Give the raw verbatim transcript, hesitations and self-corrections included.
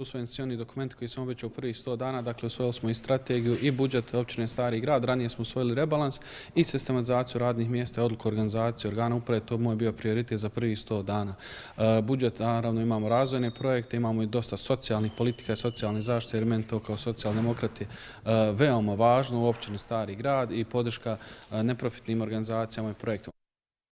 Usvojeni su oni dokumenti koji sam obećao u prvih sto dana, dakle usvojili smo i strategiju i budžet općine Stari grad, ranije smo usvojili rebalans i sistematizaciju radnih mjesta i odluku organizacije organa uprave, to moj bio prioritet za prvih sto dana. Budžet, naravno, imamo razvojne projekte, imamo i dosta socijalnih politika i socijalne zaštite, jer meni to kao socijaldemokrati veoma važno u općini Stari grad i podrška neprofitnim organizacijama i projektima.